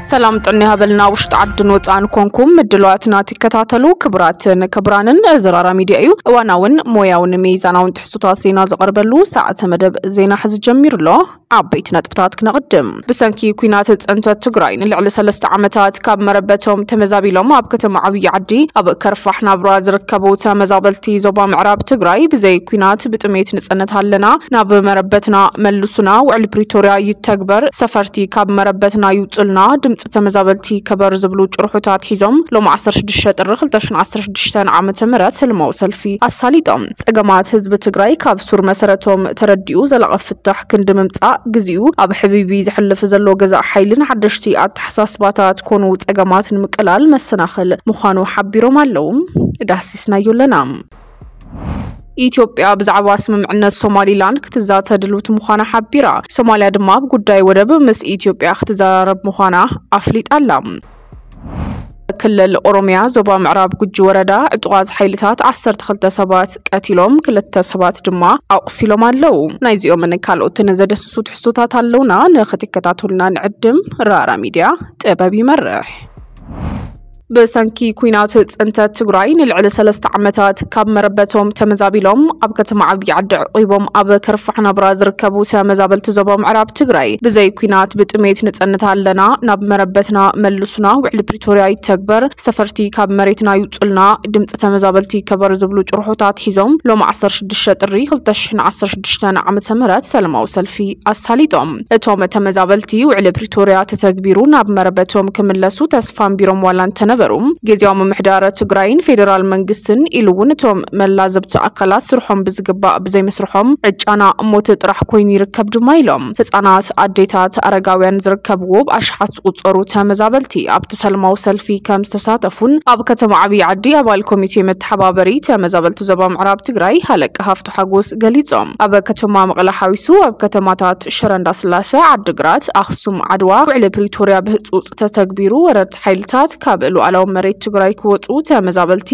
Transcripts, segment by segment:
ሰላም ጥዕና ይሃበልና። ውሽጢ ዓድን ወፃእን ኮንኩም ምድላዋትና ትከታተሉ ክቡራትን ክቡራንን፣ እዚ ራራ ሚድያ እዩ። እዋናውን ሞያውን ሚዛናውን ትሕዝቶታት ዜና ዝቐርበሉ ሰዓተ መደብ ዜና ሕዚ ጀሚሩ ኣሎ። ዓበይቲ ነጥብታት ክነቕድም። ብሰንኪ ኲናት ፅንተት ትግራይ ንልዕሊ ሰለስተ ዓመታት ካብ መረበቶም ተመዛቢሎም ኣብ ከተማ ዓብዪ ዓዲ ኣብ ከርፋሕ ናብራ ዝርከቡ ተመዛበልቲ ዞባ ምዕራብ ትግራይ፣ ብዘይ ኲናት ብጥሜት ንፀንት ኣለና፣ ናብ መረበትና መልሱና፣ ውዕሊ ፕሪቶርያ ይተግበር፣ ሰፈርቲ ካብ መረበትና ይውፅልና፣ ድምፂ ተመዛበልቲ ከበር ዝብሉ ጭርሖታት ሒዞም ሎም ዓሰርተ ሽዱሽተ ጥሪ ክልተ ሽሕን ዓሰርተ ሽዱሽተን ዓመተ ምህረት ሰላማዊ ሰልፊ ኣሳሊጦም። ጸገማት ህዝቢ ትግራይ ካብ ሱር መሰረቶም ተረዲኡ ዘላቒ ፍታሕ ክንዲ ምምጻእ፣ ግዚኡ ኣብ ሕቢቢ ዘሕልፍ ዘሎ ገዛእ ሓይልን ሓደሽቲ ኣተሓሳስባታት ኮኑ ጸገማት ንምቅላል መሰናኽል ምዃኑ ሓቢሮም ኣለዉ። ዳህሲስናዮ ኣለና። ኢትዮጵያ ብዛዕባ ስምምዕነት ሶማሊላንድ ክትዛተ ድልውቲ ምዃና ሓቢራ። ሶማልያ ድማ ኣብ ጉዳይ ወደብ ምስ ኢትዮጵያ ክትዘራረብ ምዃና ኣፍሊጣ ኣላ። ክልል ኦሮሚያ ዞባ ምዕራብ ጉጂ ወረዳ ዕጡቓት ሓይልታት ዓሰርተ ክልተ ሰባት ቀቲሎም፣ ክልተ ሰባት ድማ ኣቑሲሎም ኣለዉ። ናይዚኦምን ካልኦትን ዘደስሱ ትሕዝቶታት ኣለውና፣ ንኽትከታተሉና ንዕድም። ራራ ሚድያ፣ ጥበብ ይመርሕ። ብሰንኪ ኲናት ጽንተት ትግራይ ንልዕሊ ሰለስተ ዓመታት ካብ መረበቶም ተመዛቢሎም ኣብ ከተማ ዓብዪ ዓዲ ዕቂቦም ኣብ ከርፋሕ ናብራ ዝርከቡ ተመዛበልቲ ዞባ ምዕራብ ትግራይ፣ ብዘይ ኲናት ብጥሜት ንጸንት ኣለና፣ ናብ መረበትና መልሱና፣ ውዕሊ ፕሪቶርያ ይተግበር፣ ሰፈርቲ ካብ መሬትና ይውጹልና፣ ድምጺ ተመዛበልቲ ይከበር ዝብሉ ጭርሖታት ሒዞም ሎም ዓሰርተ ሽዱሽተ ጥሪ ክልተ ሽሕን ዓሰርተ ሽዱሽተን ዓመተ ምህረት ሰላማዊ ሰልፊ ኣሳሊጦም። እቶም ተመዛበልቲ ውዕሊ ፕሪቶርያ ተተግቢሩ ናብ መረበቶም ክምለሱ ተስፋ ኣንቢሮም ዋላ እንተነበሩ፣ ግዝያዊ ምምሕዳር ትግራይን ፌደራል መንግስትን ኢሉ እውን እቶም መላዘብቲ ኣካላት ስርሖም ብዝግባእ ብዘይምስርሖም ዕጫና ሞት ጥራሕ ኮይኑ ይርከብ ድማ ኢሎም። ህፃናት፣ ኣዴታት፣ ኣረጋውያን ዝርከብዎ ብኣሽሓት ዝቑጸሩ ተመዛበልቲ ኣብቲ ሰላማዊ ሰልፊ ከም ዝተሳተፉን ኣብ ከተማ ዓብዪ ዓዲ ኣባል ኮሚቴ መተሓባበሪ ተመዛበልቲ ዞባ ምዕራብ ትግራይ ሃለቃ ሃፍቱ ሓጎስ ገሊጾም። ኣብ ከተማ መቐለ ሓዊሱ ኣብ ከተማታት ሽረ እንዳስላሰ፣ ዓዲግራት፣ ኣኽሱም፣ ዓድዋ ውዕሊ ፕሪቶርያ ብህጹጽ ተተግቢሩ፣ ወረርቲ ሓይልታት ካብ ሉዓላዊ መሬት ትግራይ ክወጹ፣ ተመዛበልቲ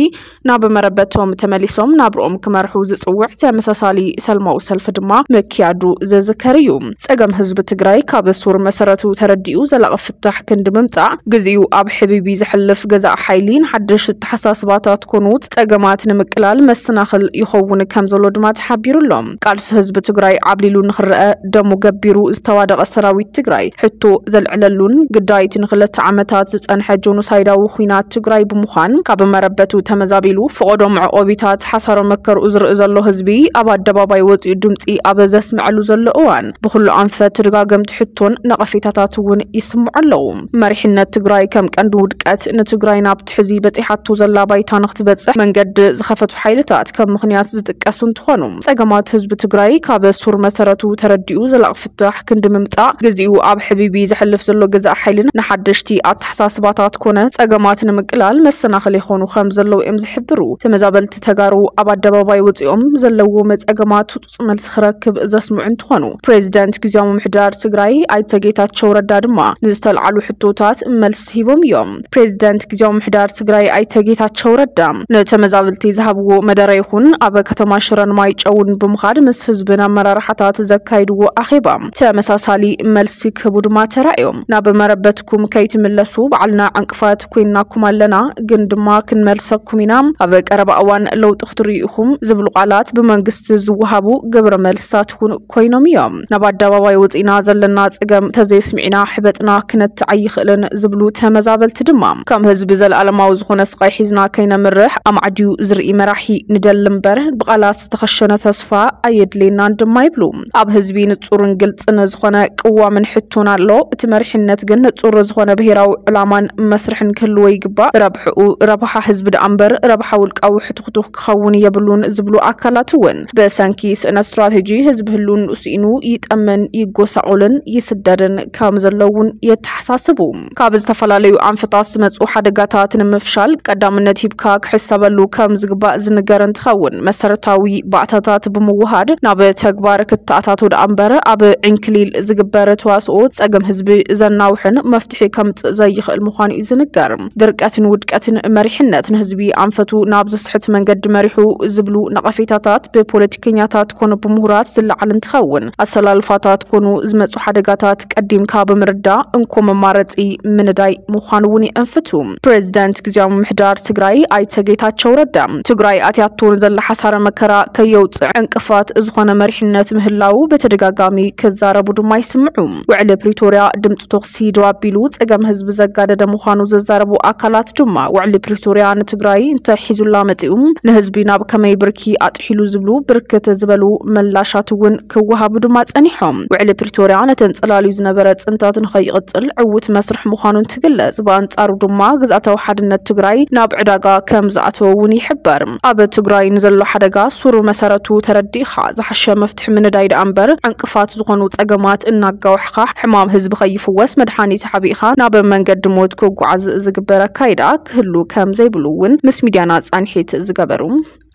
ናብ መረበቶም ተመሊሶም ናብርኦም ክመርሑ ዝጽውዕ ተመሳሳሊ ሰላማዊ ሰልፊ ድማ ምክያዱ ዝዝከር እዩ። ጸገም ህዝቢ ትግራይ ካብ ሱር መሰረቱ ተረዲኡ ዘላቒ ፍታሕ ክንዲ ምምጻእ፣ ግዚኡ ኣብ ሕቢቢ ዘሕልፍ ገዛእ ሓይሊ ንሓድሽ ኣተሓሳስባታት ኮኑ ጸገማት ንምቅላል መሰናኽል ይኸውን ከም ዘሎ ድማ ተሓቢሩ ኣሎ። ቃልሲ ህዝቢ ትግራይ ዓብሊሉ ንኽረአ ደሙ ገቢሩ ዝተዋደቐ ሰራዊት ትግራይ ሕቶ ዘልዕለሉን ግዳይት ንክልተ ዓመታት ዝጸንሐ ጆኖሳይዳዊ ኲናት ትግራይ ብምዃን፣ ካብ መረበቱ ተመዛቢሉ ፍቐዶ መዕቆቢታት ሓሳሮ መከርኡ ዝርኢ ዘሎ ህዝቢ ኣብ ኣደባባይ ወጺኡ ድምጺ ኣብ ዘስምዐሉ ዘሎ እዋን፣ ብኹሉ ኣንፈት ተደጋገምቲ ሕቶን ነቐፌታታት እውን ይስምዑ ኣለዉ። መሪሕነት ትግራይ ከም ቀንዲ ውድቀት፣ ንትግራይ ናብቲ ሕዚ በጺሓቶ ዘላ ባይታ ንክትበጽሕ መንገዲ ዝኸፈቱ ሓይልታት ከም ምኽንያት ዝጥቀሱ እንትኾኑ፣ ጸገማት ህዝቢ ትግራይ ካብ ሱር መሰረቱ ተረዲኡ ዘላቒ ፍታሕ ክንዲ ምምጻእ፣ ግዚኡ ኣብ ሕቢቢ ዘሕልፍ ዘሎ ገዛእ ሓይልን ንሓደሽቲ ኣተሓሳስባታት ኮነ ጸገማት ንምቅላል መሰናኽል ይኾኑ ከም ዘለዉ እዮም ዝሕብሩ። ተመዛበልቲ ተጋሩ ኣብ ኣደባባይ ወጺኦም ዘለዎም ጸገማት ህጹጽ መልሲ ክረክብ ዘስምዑ እንትኾኑ፣ ፕሬዚደንት ግዝያዊ ምምሕዳር ትግራይ ኣይተ ጌታቸው ረዳ ድማ ንዝተልዓሉ ሕቶታት መልሲ ሂቦም እዮም። ፕሬዚደንት ግዝያዊ ምምሕዳር ትግራይ ኣይተ ጌታቸው ረዳ ንተመዛበልቲ ዝሃብዎ መደረ ይኹን ኣብ ከተማ ሽረን ማይጨውን ብምኻድ ምስ ህዝብን ኣመራርሓታት ዘካይድዎ ኣኼባ ተመሳሳሊ መልሲ ክህቡ ድማ ተራእዮም። ናብ መረበትኩም ከይትምለሱ ባዕልና ዕንቅፋት ኮይንናኩም ኣለና፣ ግን ድማ ክንመልሰኩም ኢና። ኣብ ቀረባ እዋን ለውጢ ክትርእዩ ኢኹም ዝብሉ ቃላት ብመንግስቲ ዝወሃቡ ግብረ መልስታት እውን ኮይኖም እዮም። ናብ ኣደባባይ ወፂና ዘለና ፀገም ተዘይስሚዕና ሕበጥና ክነትዕ ኣይኽእልን ዝብሉ ተመዛበልቲ ድማ፣ ከም ህዝቢ ዘለኣለማዊ ዝኾነ ስቓይ ሒዝና ከይነምርሕ ኣማዕድዩ ዝርኢ መራሒ ንደሊ እምበር፣ ብቃላት ዝተኸሸነ ተስፋ ኣየድልየናን ድማ ይብሉ። ኣብ ህዝቢ ንጹርን ግልጽን ዝኾነ ቅዋምን ሕቶን ኣሎ። እቲ መሪሕነት ግን ንጹር ዝኾነ ብሄራዊ ዕላማን መስርሕን ክህልዎ ይግባእ። ረብሕኡ ረብሓ ህዝቢ ደኣ እምበር ረብሓ ውልቃዊ ሕትኹቱኽ ክኸውን የብሉን ዝብሉ ኣካላት እውን፣ ብሰንኪ ስእነት ስትራቴጂ ህዝቢ ህልውንኡ ስኢኑ ይጠምን፣ ይጎሳቆልን ይስደድን ከም ዘሎ እውን የተሓሳስቡ። ካብ ዝተፈላለዩ ኣንፈታት ዝመጹ ሓደጋታት ንምፍሻል ቀዳምነት ሂብካ ክሕሰበሉ ከም ዝግባእ ዝንገር እንትኸውን፣ መሰረታዊ ባእታታት ብምውሃድ ናብ ተግባር ክተኣታቶ ደኣ እምበር ኣብ ዕንክሊል ዝግበር ተዋስኦ ጸገም ህዝቢ ዘናውሕን መፍትሒ ከምጽእ ዘይኽእል ምዃኑ እዩ ዝንገር። ድርቀትን ውድቀትን መሪሕነት ንህዝቢ ኣንፈቱ ናብ ዘስሕት መንገዲ መሪሑ ዝብሉ ነቐፌታታት ብፖለቲከኛታት ኮኑ ብምሁራት ዝለዓል እንትኸውን፣ ኣሰላልፋታት ኮኑ ዝመፁ ሓደጋታት ቀዲምካ ብምርዳእ እንኮ መማረፂ ምንዳይ ምዃኑ እውን የእንፍቱ። ፕሬዚደንት ግዜያዊ ምምሕዳር ትግራይ ኣይተ ጌታቸው ረዳ ትግራይ ኣትያቶ ንዘላ ሓሳረ መከራ ከየውፅእ ዕንቅፋት ዝኾነ መሪሕነት ምህላው በተደጋጋሚ ክዛረቡ ድማ ይስምዑ። ውዕሊ ፕሪቶርያ ድምፂ ተኹሲ ደው ኣቢሉ ፀገም ህዝቢ ዘጋደደ ምዃኑ ዘዛረቡ ኣካላት ድማ ውዕሊ ፕሪቶርያ ንትግራይ እንታይ ሒዙላ መፂኡ፣ ንህዝቢ ናብ ከመይ ብርኪ ኣጥሒሉ ዝብሉ ብርክት ዝበሉ ምላሻት እውን ክወሃቡ ድማ ጸኒሖም። ውዕሊ ፕሪቶርያ ነተን ጽላልዩ ዝነበረ ጽንታት ንኸይቕጽል ዕዉት መስርሕ ምዃኑ እንትግለጽ፣ ብኣንጻሩ ድማ ግዝኣታዊ ሓድነት ትግራይ ናብ ዕዳጋ ከም ዝኣተወ እውን ይሕበር። ኣብ ትግራይ ንዘሎ ሓደጋ ሱሩ መሰረቱ ተረዲእኻ ዝሓሸ መፍትሒ ምንዳይ ደኣ እምበር፣ ዕንቅፋት ዝኾኑ ጸገማት እናጋዋሕኻ ሕማም ህዝቢ ከይፍወስ መድሓኒት ሓቢእኻ ናብ መንገዲ ሞት ክጓዓዝ ዝግበር ኣካይዳ ክህሉ ከም ዘይብሉ እውን ምስ ሚድያና ጻንሒት ዝገበሩ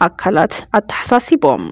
ኣካላት ኣተሓሳሲቦም።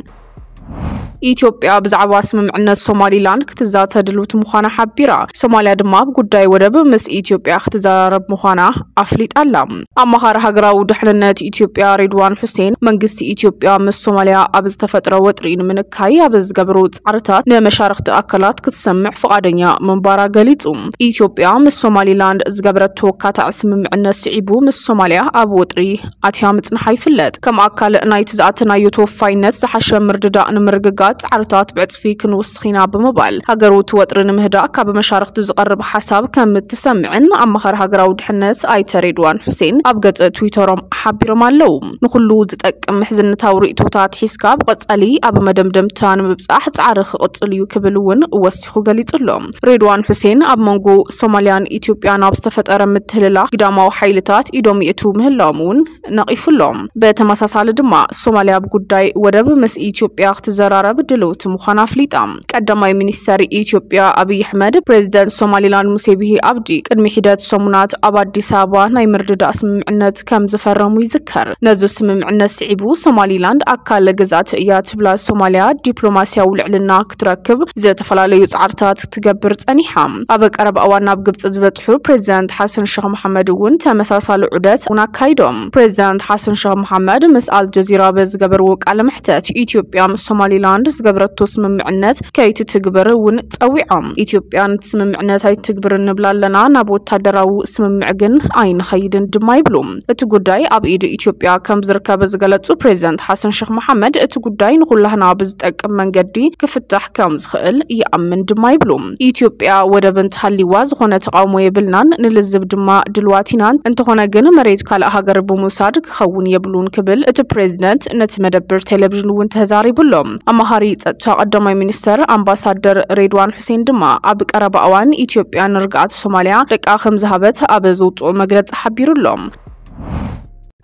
ኢትዮጵያ ብዛዕባ ስምምዕነት ሶማሊላንድ ክትዛተ ድልውቲ ምዃና ሓቢራ። ሶማልያ ድማ ኣብ ጉዳይ ወደብ ምስ ኢትዮጵያ ክትዘራረብ ምዃና ኣፍሊጣ ኣላ። ኣማኻሪ ሃገራዊ ድሕንነት ኢትዮጵያ ሬድዋን ሑሴን፣ መንግስቲ ኢትዮጵያ ምስ ሶማልያ ኣብ ዝተፈጥረ ወጥሪ ንምንካይ ኣብ ዝገብሮ ጻዕርታት ንመሻርኽቲ ኣካላት ክትሰምዕ ፍቓደኛ ምንባራ ገሊጹ። ኢትዮጵያ ምስ ሶማሊላንድ ዝገበረቶ ኣካታዒ ስምምዕነት ስዒቡ ምስ ሶማልያ ኣብ ወጥሪ ኣትያ ምጽንሓ ይፍለጥ። ከም ኣካል ናይቲ ዝኣተናዮ ተወፋይነት ዝሓሸ ምርድዳእ ንምርግጋጽ ጻዕርታት ብዕጽፊ ክንውስኽ ኢና ብምባል፣ ሃገሩ እቲ ወጥሪ ንምህዳእ ካብ መሻርኽቲ ዝቐርብ ሓሳብ ከም እትሰምዕን ኣማኻሪ ሃገራዊ ድሕነት ኣይተ ሬድዋን ሑሴን ኣብ ገጽ ትዊተሮም ሓቢሮም ኣለዉ። ንኹሉ ዝጠቅም ምሕዝነታዊ ርእይቶታት ሒዝካ ብቐጻሊ ኣብ መደምደምታ ንምብጻሕ ጻዕሪ ክቕጽል እዩ ክብል እውን ወሲኹ ገሊጹ ኣሎ። ሬድዋን ሑሴን ኣብ መንጎ ሶማልያን ኢትዮጵያን ኣብ ዝተፈጠረ ምትህልላኽ ግዳማዊ ሓይልታት ኢዶም ይእትዉ ምህላዎም እውን ነቒፉ ኣሎ። ብተመሳሳሊ ድማ ሶማልያ ኣብ ጉዳይ ወደብ ምስ ኢትዮጵያ ክትዘራረብ ድልውቲ ምዃና ኣፍሊጣ። ቀዳማይ ሚኒስተር ኢትዮጵያ ኣብይ ኣሕመድ ፕሬዚደንት ሶማሊላንድ ሙሴ ቢሂ ኣብዲ ቅድሚ ሒደት ሰሙናት ኣብ ኣዲስ ኣበባ ናይ ምርድዳእ ስምምዕነት ከም ዝፈረሙ ይዝከር። ነዚ ስምምዕነት ስዒቡ ሶማሊላንድ ኣካል ግዝኣት እያ ትብላ ሶማልያ ዲፕሎማሲያዊ ልዕልና ክትረክብ ዝተፈላለዩ ጻዕርታት ትገብር ጸኒሓ። ኣብ ቀረባ እዋን ናብ ግብጺ ዝበጽሑ ፕሬዚዳንት ሓሰን ሸኽ መሓመድ እውን ተመሳሳሊ ዑደት እውን ኣካይዶም። ፕሬዚዳንት ሓሰን ሸኽ መሓመድ ምስ ኣልጀዚራ በዝገበርዎ ቃለ መሕተት፣ ኢትዮጵያ ምስ ሶማሊላንድ ዝገበረቶ ስምምዕነት ከይትትግበር እውን ጸዊዖም። ኢትዮጵያ ነቲ ስምምዕነት ኣይትግብርን ንብላ ኣለና፣ ናብ ወታደራዊ ስምምዕ ግን ኣይንኸይድን ድማ ይብሉ። እቲ ጉዳይ ኣብ ኢድ ኢትዮጵያ ከም ዝርከብ ዝገለጹ ፕሬዚዳንት ሓሰን ሸኽ መሓመድ፣ እቲ ጉዳይ ንኹላህና ብዝጠቅም መንገዲ ክፍታሕ ከም ዝኽእል ይኣምን ድማ ይብሉ። ኢትዮጵያ ወደብ እንተሃልይዋ ዝኾነ ተቓውሞ የብልናን፣ ንልዝብ ድማ ድልዋት ኢና። እንተኾነ ግን መሬት ካልእ ሃገር ብምውሳድ ክኸውን የብሉን ክብል እቲ ፕሬዚደንት ነቲ መደብር ቴሌቪዥን እውን ተዛሪቡ ኣሎ። ኣማኻሪ ጸጥታ ቀዳማይ ሚኒስተር ኣምባሳደር ሬድዋን ሑሴን ድማ ኣብ ቀረባ እዋን ኢትዮጵያ ንርግኣት ሶማልያ ደቃ ከም ዝሃበት ኣብ ዘውፅኦ መግለጺ ሓቢሩ ኣሎ።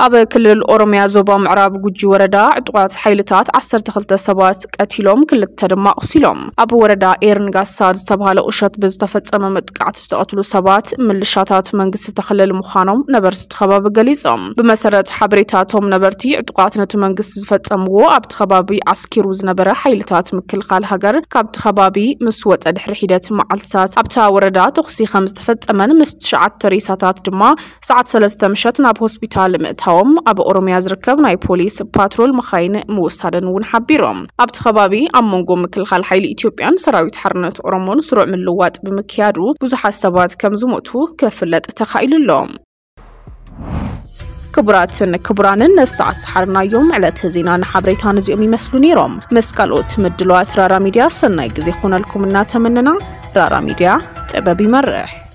ኣብ ክልል ኦሮሚያ ዞባ ምዕራብ ጉጂ ወረዳ ዕጡቓት ሓይልታት ዓሰርተ ክልተ ሰባት ቀቲሎም፣ ክልተ ድማ ኣቑሲሎም። ኣብ ወረዳ ኤርንጋሳ ዝተባሃለ ቁሸት ብዝተፈጸመ መጥቃዕቲ ዝተቐትሉ ሰባት ምልሻታት መንግስቲ ተኸለል ምዃኖም ነበርቲ እቲ ከባቢ ገሊጾም። ብመሰረት ሓበሬታቶም ነበርቲ፣ ዕጡቓት ነቲ መንግስቲ ዝፈጸምዎ ኣብቲ ከባቢ ዓስኪሩ ዝነበረ ሓይልታት ምክልኻል ሃገር ካብቲ ከባቢ ምስ ወጸ ድሕሪ ሒደት መዓልትታት ኣብታ ወረዳ ተኹሲ ከም ዝተፈጸመን ምስ ትሽዓተ ሬሳታት ድማ ሰዓት ሰለስተ ምሸት ናብ ሆስፒታል ምእታዎም ኣብ ኦሮሚያ ዝርከብ ናይ ፖሊስ ፓትሮል መኻይን ምውሳደን እውን ሓቢሮም። ኣብቲ ከባቢ ኣብ መንጎ ምክልኻል ሓይሊ ኢትዮጵያን ሰራዊት ሓርነት ኦሮሞን ስሩዕ ምልዋጥ ብምክያዱ ብዙሓት ሰባት ከም ዝሞቱ ክፍለጥ ተኻኢሉ ኣሎ። ክቡራትን ክቡራንን ነሳዕ ሰሓርናዮም ዕለተ ዜና ንሓበሬታ ነዚኦም ይመስሉ ነይሮም። ምስ ካልኦት ምድለዋት ራራ ሚድያ ሰናይ ግዜ ይኹነልኩም እናተመነና፣ ራራ ሚድያ ጥበብ ይመርሕ።